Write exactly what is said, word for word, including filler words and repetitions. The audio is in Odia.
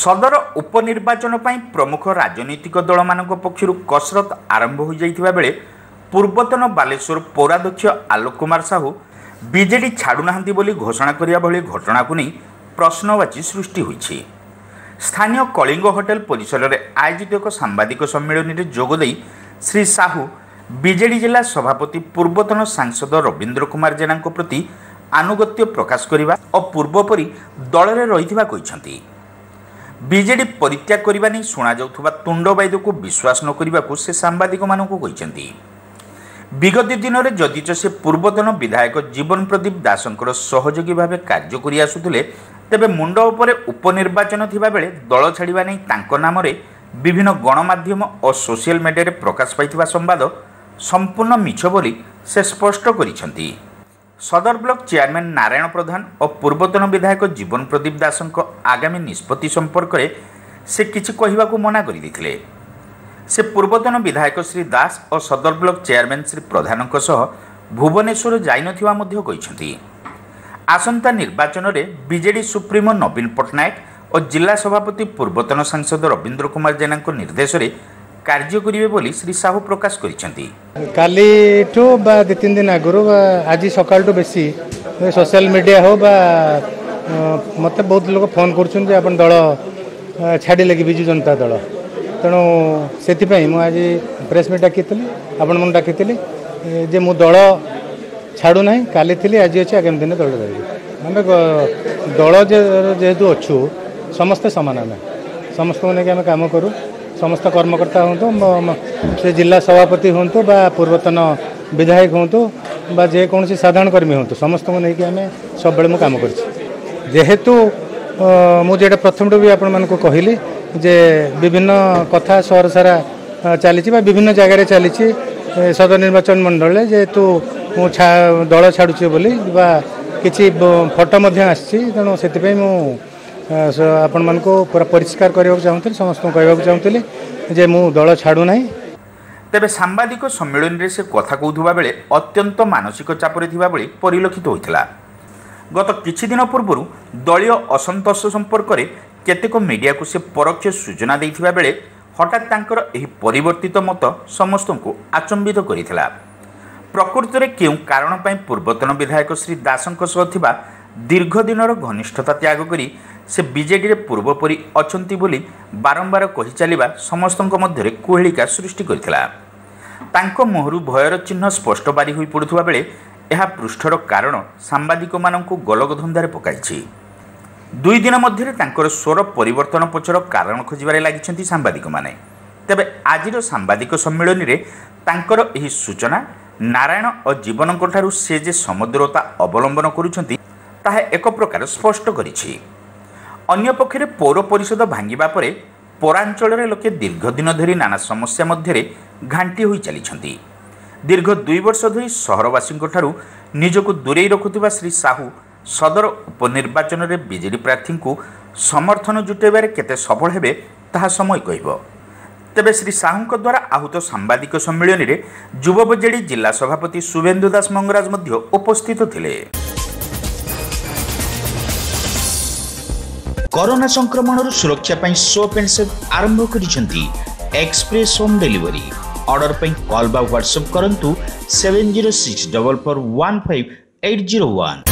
ସଦର ଉପନିର୍ବାଚନ ପାଇଁ ପ୍ରମୁଖ ରାଜନୈତିକ ଦଳମାନଙ୍କ ପକ୍ଷରୁ କସରତ ଆରମ୍ଭ ହୋଇଯାଇଥିବା ବେଳେ ପୂର୍ବତନ ବାଲେଶ୍ୱର ପୌରାଧ୍ୟକ୍ଷ ଆଲୋକ କୁମାର ସାହୁ ବିଜେଡି ଛାଡ଼ୁନାହାନ୍ତି ବୋଲି ଘୋଷଣା କରିବା ଭଳି ଘଟଣାକୁ ନେଇ ପ୍ରଶ୍ନବାଚୀ ସୃଷ୍ଟି ହୋଇଛି। ସ୍ଥାନୀୟ କଳିଙ୍ଗ ହୋଟେଲ ପରିସରରେ ଆୟୋଜିତ ଏକ ସାମ୍ବାଦିକ ସମ୍ମିଳନୀରେ ଯୋଗଦେଇ ଶ୍ରୀ ସାହୁ ବିଜେଡି ଜିଲ୍ଲା ସଭାପତି ପୂର୍ବତନ ସାଂସଦ ରବୀନ୍ଦ୍ର କୁମାର ଜେନାଙ୍କ ପ୍ରତି ଆନୁଗତ୍ୟ ପ୍ରକାଶ କରିବା ଓ ପୂର୍ବପରି ଦଳରେ ରହିଥିବା କହିଛନ୍ତି। ବିଜେଡି ପରିତ୍ୟାଗ କରିବା ନେଇ ଶୁଣାଯାଉଥିବା ତୁଣ୍ଡବାଇଦକୁ ବିଶ୍ୱାସ ନ କରିବାକୁ ସେ ସାମ୍ବାଦିକମାନଙ୍କୁ କହିଛନ୍ତି। ବିଗତ ଦିନରେ ଯଦିଚ ସେ ପୂର୍ବତନ ବିଧାୟକ ଜୀବନ ପ୍ରଦୀପ ଦାସଙ୍କର ସହଯୋଗୀ ଭାବେ କାର୍ଯ୍ୟ କରି ଆସୁଥିଲେ, ତେବେ ମୁଣ୍ଡ ଉପରେ ଉପନିର୍ବାଚନ ଥିବାବେଳେ ଦଳ ଛାଡ଼ିବା ନେଇ ତାଙ୍କ ନାମରେ ବିଭିନ୍ନ ଗଣମାଧ୍ୟମ ଓ ସୋସିଆଲ ମିଡ଼ିଆରେ ପ୍ରକାଶ ପାଇଥିବା ସମ୍ବାଦ ସମ୍ପୂର୍ଣ୍ଣ ମିଛ ବୋଲି ସେ ସ୍ପଷ୍ଟ କରିଛନ୍ତି। ସଦର ବ୍ଲକ ଚେୟାରମ୍ୟାନ୍ ନାରାୟଣ ପ୍ରଧାନ ଓ ପୂର୍ବତନ ବିଧାୟକ ଜୀବନ ପ୍ରଦୀପ ଦାସଙ୍କ ଆଗାମୀ ନିଷ୍ପତ୍ତି ସମ୍ପର୍କରେ ସେ କିଛି କହିବାକୁ ମନା କରିଦେଇଥିଲେ। ସେ ପୂର୍ବତନ ବିଧାୟକ ଶ୍ରୀ ଦାସ ଓ ସଦର ବ୍ଲକ ଚେୟାରମ୍ୟାନ୍ ଶ୍ରୀ ପ୍ରଧାନଙ୍କ ସହ ଭୁବନେଶ୍ୱର ଯାଇନଥିବା ମଧ୍ୟ କହିଛନ୍ତି। ଆସନ୍ତା ନିର୍ବାଚନରେ ବିଜେଡି ସୁପ୍ରିମୋ ନବୀନ ପଟ୍ଟନାୟକ ଓ ଜିଲ୍ଲା ସଭାପତି ପୂର୍ବତନ ସାଂସଦ ରବୀନ୍ଦ୍ର କୁମାର ଜେନାଙ୍କ ନିର୍ଦ୍ଦେଶରେ କାର୍ଯ୍ୟ କରିବେ ବୋଲି ଶ୍ରୀ ସାହୁ ପ୍ରକାଶ କରିଛନ୍ତି। କାଲିଠୁ ବା ଦୁଇ ତିନି ଦିନ ଆଗରୁ ବା ଆଜି ସକାଳଠୁ ବେଶୀ ସୋସିଆଲ ମିଡ଼ିଆ ହଉ ବା ମୋତେ ବହୁତ ଲୋକ ଫୋନ୍ କରୁଛନ୍ତି ଯେ ଆପଣ ଦଳ ଛାଡ଼ିଲେ କି ବିଜୁ ଜନତା ଦଳ। ତେଣୁ ସେଥିପାଇଁ ମୁଁ ଆଜି ପ୍ରେସ୍ ମିଟ୍ ଡାକିଥିଲି, ଆପଣମାନଙ୍କୁ ଡାକିଥିଲି ଯେ ମୁଁ ଦଳ ଛାଡ଼ୁନାହିଁ, କାଲି ଥିଲି, ଆଜି ଅଛି, ଆଗାମୀ ଦିନେ ଦଳ ରହିବି। ଆମେ ଦଳ ଯେହେତୁ ଅଛୁ ସମସ୍ତେ ସମାନ, ଆମେ ସମସ୍ତଙ୍କୁ ନେଇକି ଆମେ କାମ କରୁ। ସମସ୍ତ କର୍ମକର୍ତ୍ତା ହୁଅନ୍ତୁ, ସେ ଜିଲ୍ଲା ସଭାପତି ହୁଅନ୍ତୁ ବା ପୂର୍ବତନ ବିଧାୟକ ହୁଅନ୍ତୁ ବା ଯେକୌଣସି ସାଧାରଣ କର୍ମୀ ହୁଅନ୍ତୁ, ସମସ୍ତଙ୍କୁ ନେଇକି ଆମେ ସବୁବେଳେ ମୁଁ କାମ କରିଛି। ଯେହେତୁ ମୁଁ ଯେଟା ପ୍ରଥମଠୁ ବି ଆପଣମାନଙ୍କୁ କହିଲି ଯେ ବିଭିନ୍ନ କଥା ସହର ସାରା ଚାଲିଛି ବା ବିଭିନ୍ନ ଜାଗାରେ ଚାଲିଛି ସଦର ନିର୍ବାଚନ ମଣ୍ଡଳୀରେ, ଯେହେତୁ ମୁଁ ଦଳ ଛାଡ଼ୁଛି ବୋଲି ବା କିଛି ଫଟୋ ମଧ୍ୟ ଆସିଛି, ତେଣୁ ସେଥିପାଇଁ ମୁଁ ଆପଣମାନଙ୍କୁ ପୁରା ପରିଷ୍କାର କରିବାକୁ ଚାହୁଁଥିଲି, ସମସ୍ତଙ୍କୁ କହିବାକୁ ଚାହୁଁଥିଲି ଯେ ମୁଁ ଦଳ ଛାଡ଼ୁନାହିଁ। ତେବେ ସାମ୍ବାଦିକ ସମ୍ମିଳନୀରେ ସେ କଥା କହୁଥିବା ବେଳେ ଅତ୍ୟନ୍ତ ମାନସିକ ଚାପରେ ଥିବା ଭଳି ପରିଲକ୍ଷିତ ହୋଇଥିଲା। ଗତ କିଛି ଦିନ ପୂର୍ବରୁ ଦଳୀୟ ଅସନ୍ତୋଷ ସମ୍ପର୍କରେ କେତେକ ମିଡ଼ିଆକୁ ସେ ପରୋକ୍ଷ ସୂଚନା ଦେଇଥିବା ବେଳେ ହଠାତ୍ ତାଙ୍କର ଏହି ପରିବର୍ତ୍ତିତ ମତ ସମସ୍ତଙ୍କୁ ଆଚମ୍ବିତ କରିଥିଲା। ପ୍ରକୃତରେ କେଉଁ କାରଣ ପାଇଁ ପୂର୍ବତନ ବିଧାୟକ ଶ୍ରୀ ଦାସଙ୍କ ସହ ଥିବା ଦୀର୍ଘ ଦିନର ଘନିଷ୍ଠତା ତ୍ୟାଗ କରି ସେ ବିଜେଡିରେ ପୂର୍ବପରି ଅଛନ୍ତି ବୋଲି ବାରମ୍ବାର କହି ଚାଲିବା ସମସ୍ତଙ୍କ ମଧ୍ୟରେ କୁହେଳିକା ସୃଷ୍ଟି କରିଥିଲା। ତାଙ୍କ ମୁହଁରୁ ଭୟର ଚିହ୍ନ ସ୍ପଷ୍ଟ ବାରି ହୋଇ ପଡ଼ୁଥିବା ବେଳେ ଏହା ପୃଷ୍ଠର କାରଣ ସାମ୍ବାଦିକମାନଙ୍କୁ ଗୋଲକଧନ୍ଦାରେ ପକାଇଛି। ଦୁଇ ଦିନ ମଧ୍ୟରେ ତାଙ୍କର ସ୍ୱର ପରିବର୍ତ୍ତନ ପଛର କାରଣ ଖୋଜିବାରେ ଲାଗିଛନ୍ତି ସାମ୍ବାଦିକମାନେ। ତେବେ ଆଜିର ସାମ୍ବାଦିକ ସମ୍ମିଳନୀରେ ତାଙ୍କର ଏହି ସୂଚନା ନାରାୟଣ ଓ ଜୀବନଙ୍କଠାରୁ ସେ ଯେ ସମଦୂରତା ଅବଲମ୍ବନ କରୁଛନ୍ତି ତାହା ଏକ ପ୍ରକାର ସ୍ପଷ୍ଟ କରିଛି। ଅନ୍ୟପକ୍ଷରେ ପୌର ପରିଷଦ ଭାଙ୍ଗିବା ପରେ ପୌରାଞ୍ଚଳରେ ଲୋକେ ଦୀର୍ଘ ଦିନ ଧରି ନାନା ସମସ୍ୟା ମଧ୍ୟରେ ଘାଣ୍ଟି ହୋଇ ଚାଲିଛନ୍ତି। ଦୀର୍ଘ ଦୁଇ ବର୍ଷ ଧରି ସହରବାସୀଙ୍କଠାରୁ ନିଜକୁ ଦୂରେଇ ରଖୁଥିବା ଶ୍ରୀ ସାହୁ ସଦର ଉପନିର୍ବାଚନରେ ବିଜେଡି ପ୍ରାର୍ଥୀଙ୍କୁ ସମର୍ଥନ ଜୁଟାଇବାରେ କେତେ ସଫଳ ହେବେ ତାହା ସମୟ କହିବ। ତେବେ ଶ୍ରୀ ସାହୁଙ୍କ ଦ୍ୱାରା ଆହୁତ ସାମ୍ବାଦିକ ସମ୍ମିଳନୀରେ ଯୁବ ବିଜେଡି ଜିଲ୍ଲା ସଭାପତି ଶୁଭେନ୍ଦୁ ଦାସ ମଙ୍ଗରାଜ ମଧ୍ୟ ଉପସ୍ଥିତ ଥିଲେ। କରୋନା ସଂକ୍ରମଣରୁ ସୁରକ୍ଷା ପାଇଁ ସୋପ୍ ଆଣ୍ଡ ସେଭ୍ ଆରମ୍ଭ କରିଛନ୍ତି ଏକ୍ସପ୍ରେସ୍ ହୋମ୍ ଡେଲିଭରି। ଅର୍ଡର ପାଇଁ କଲ୍ ବା ହ୍ୱାଟ୍ସଆପ୍ କରନ୍ତୁ seven zero six double four one five eight zero one.